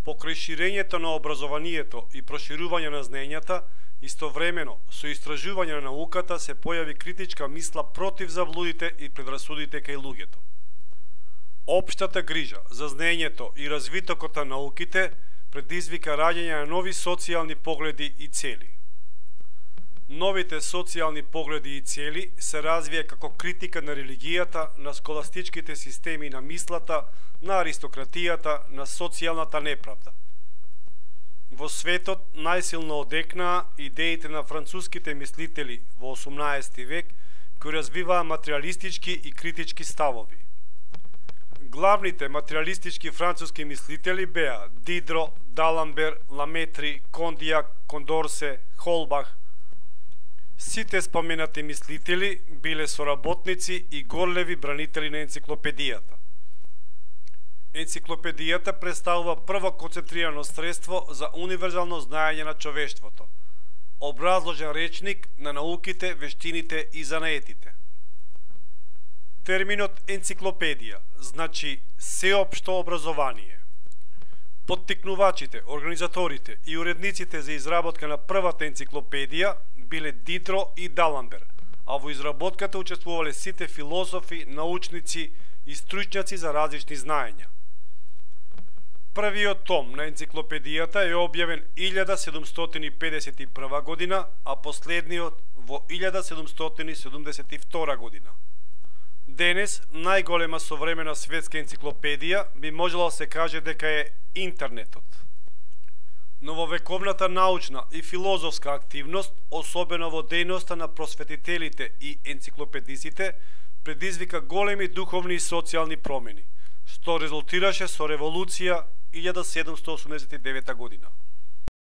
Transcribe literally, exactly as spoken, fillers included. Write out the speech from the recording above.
Покрај ширењето на образованието и проширување на знаењата, истовремено со истражување на науката се појави критичка мисла против заблудите и предрасудите кај луѓето. Општата грижа за знаењето и развитокот на науките предизвика раѓање на нови социјални погледи и цели. Новите социјални погледи и цели се развија како критика на религијата, на сколастичките системи на мислата, на аристократијата, на социјалната неправда. Во светот најсилно одекнаа идеите на француските мислители во осумнаесети век, кои развиваа материјалистички и критички ставови. Главните материјалистички француски мислители беа Дидро, Даламбер, Ламетри, Кондијак, Кондорсе, Холбах. Сите споменати мислители биле соработници и горлеви бранители на енциклопедијата. Енциклопедијата представува прво концентрирано средство за универзално знаење на човештвото, образложен речник на науките, вештините и занаетите. Терминот енциклопедија значи сеопшто образование. Поттикнувачите, организаторите и уредниците за изработка на првата енциклопедија биле Дидро и Даламбер, а во изработката учествувале сите философи, научници и стручњаци за различни знаења. Првиот том на енциклопедијата е објавен илјада седумстотини педесет и прва година, а последниот во илјада седумстотини седумдесет и втора година. Денес, најголема современа светска енциклопедија би можело да се каже дека е интернетот. Нововековната научна и филозофска активност, особено во дејноста на просветителите и енциклопедистите, предизвика големи духовни и социјални промени, што резултираше со револуција илјада седумстотини осумдесет и девета година.